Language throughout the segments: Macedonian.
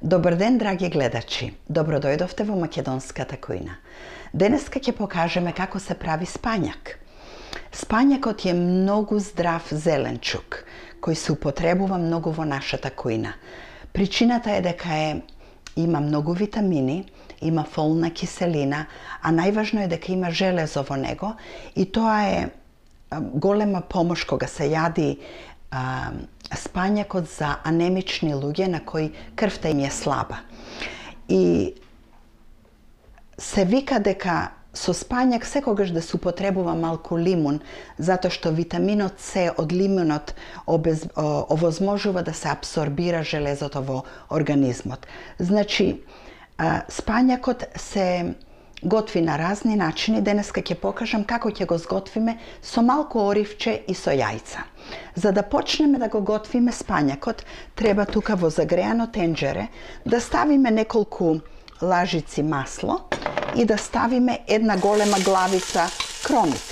Добар ден, драги гледачи. Добро дојдовте во македонската кујна. Денеска ќе покажеме како се прави спањак. Спањакот е многу здрав зеленчук, кој се употребува многу во нашата кујна. Причината е дека има многу витамини, има фолна киселина, а најважно е дека има железо во него и тоа е голема помош кога се јади спањакот за анемични луѓе на кои крвта им е слаба. И се вика дека со спањак секогаш да се употребува малку лимун, затоа што витаминот С од лимунот овозможува да се абсорбира железото во организмот. Значи, спањакот се готви на разни начини. Денеска ќе покажам како ќе го сготвиме со малку оривче и со јајца. За да почнеме да го готвиме спањакот, треба тука во загреано тенџере да ставиме неколку лажици масло и да ставиме една голема главица кромит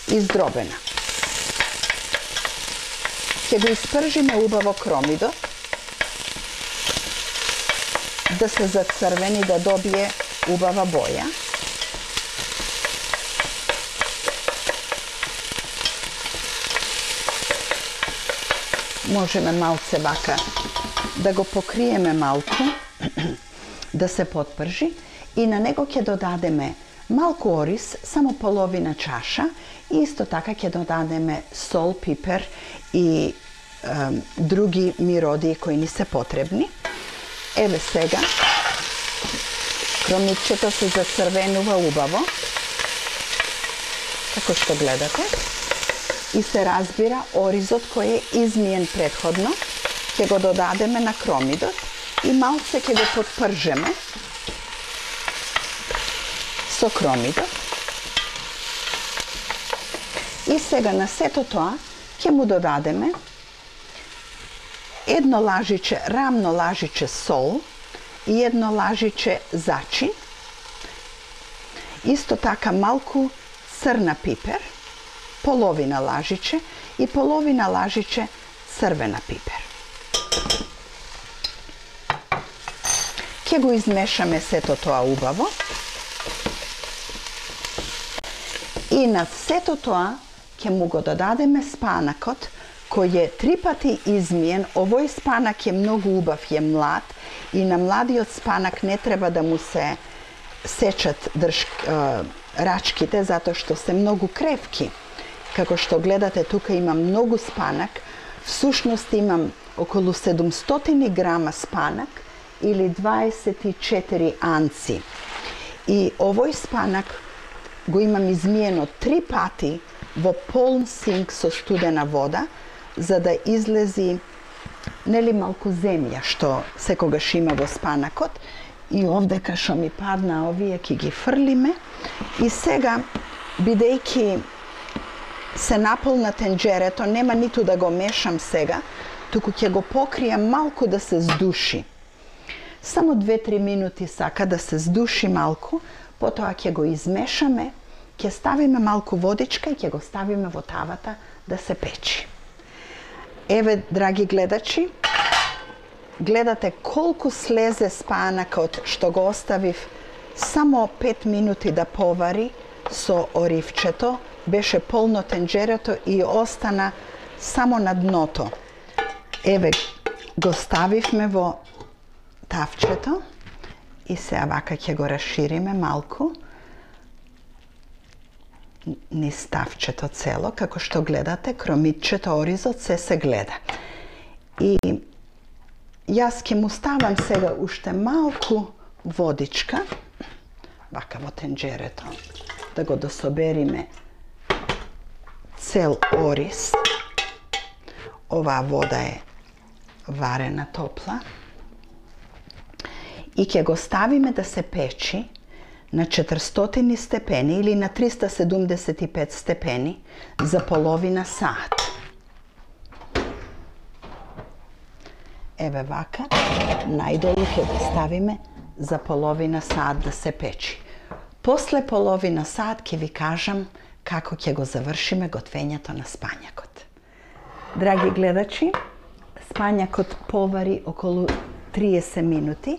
издробена. Ќе го испржиме убаво кромидот да се зацрвени, да добие убава боја. Можеме малце вака да го покриеме малку, да се потпржи и на него ќе додадеме малку ориз, само половина чаша и исто така ќе додадеме сол, пипер и други миродии кои ни се потребни. Еве сега, кромитчето се зацрвенува убаво, како што гледате, и се разбира оризот кој е измиен претходно, ќе го додадеме на кромидот и малце ќе го потпржеме со кромидот. И сега на сето тоа ќе му додадеме едно лажиче, рамно лажиче сол и едно лажиче зачин. Исто така малку црна пипер, половина лажиче и половина лажиче црвена пипер. Ќе го измешаме сето тоа убаво. И на сето тоа ќе му го додадеме спанакот, кој е 3 пати измиен. Овој спанак е многу убав, е млад и на младиот спанак не треба да му се сечат рачките, затоа што се многу кревки. Како што гледате, тука имам многу спанак. Всушност имам околу 700 грама спанак или 24 анци. И овој спанак го имам измиено 3 пати во полн синк со студена вода, за да излези малку земја, што секогаш има во спанакот. И овдека што ми падна овие ќе ги фрлиме. И сега, бидејќи се наполна тенџерето, нема ниту да го мешам сега, туку ќе го покријам малку да се здуши. Само 2-3 минути сака да се здуши малку, потоа ќе го измешаме, ќе ставиме малку водичка и ќе го ставиме во тавата да се печи. Еве, драги гледачи, гледате колку слезе спанакот што го оставив само 5 минути да повари со оривчето. Беше полно тенџерето и остана само на дното. Еве, го ставивме во тавчето и сега вака ќе го расшириме малку низ тавчето цело, како што гледате, кромитчето, оризот, се гледа. И јас ќе му ставам сега уште малку водичка, вака во тенџерето, да го дособериме цел ориз. Оваа вода е варена, топла. И ќе го ставиме да се печи на 400 степени или на 375 степени за половина сат. Еве вака, најдолу ќе го ставиме за половина сат да се печи. После половина сат ќе ви кажам како ќе го завршиме готвењето на спањакот. Драги гледачи, спањакот повари околу 30 минути.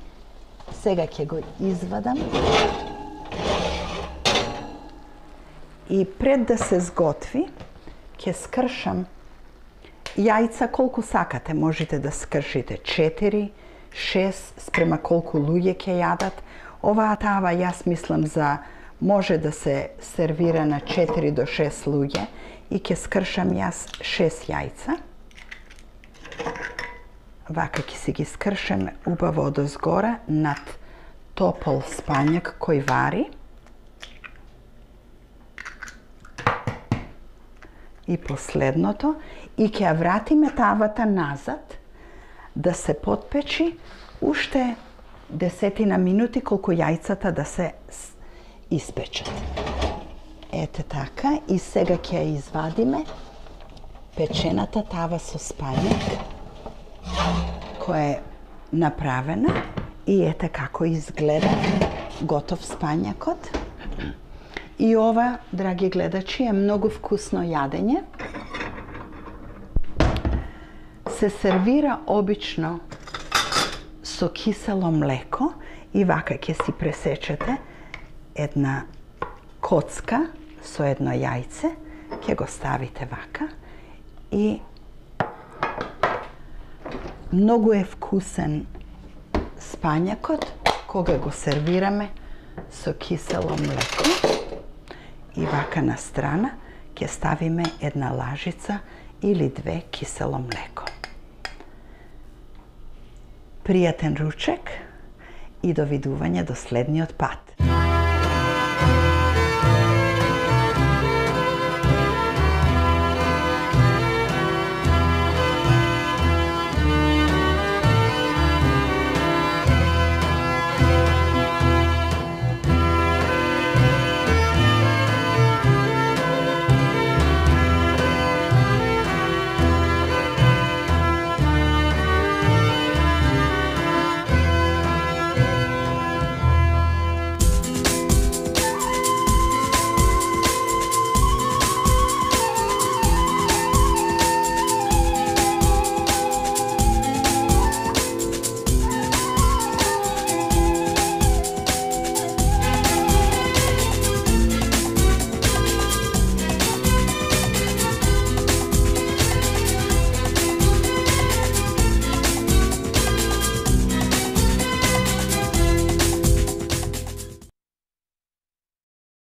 Сега ќе го извадам. И пред да се сготви, ќе скршам јајца колку сакате. Можете да скршите 4, 6, спрема колку луѓе ќе јадат. Оваа тава, јас мислам може да се сервира на 4 до 6 луѓе и ќе скршам јас 6 јајца. Вака ќе си ги скршаме убаво одозгора над топол спањак кој вари. И последното, и ќе ја вратиме тавата назад да се потпечи уште 10 минути колку јајцата да се испечат. Ете така, и сега ќе ја извадиме печената тава со спањак која е направена и ете како изгледа готов спањакот. И ова, драги гледачи, е многу вкусно јадење. Се сервира обично со кисело млеко и вака ќе си пресечете една коцка со едно јајце, ќе го ставите вака и многу е вкусен спањакот кога го сервираме со кисело млеко. И вака на страна ќе ставиме една лажица или 2 кисело млеко. Пријатен ручек и довидување до следниот пат.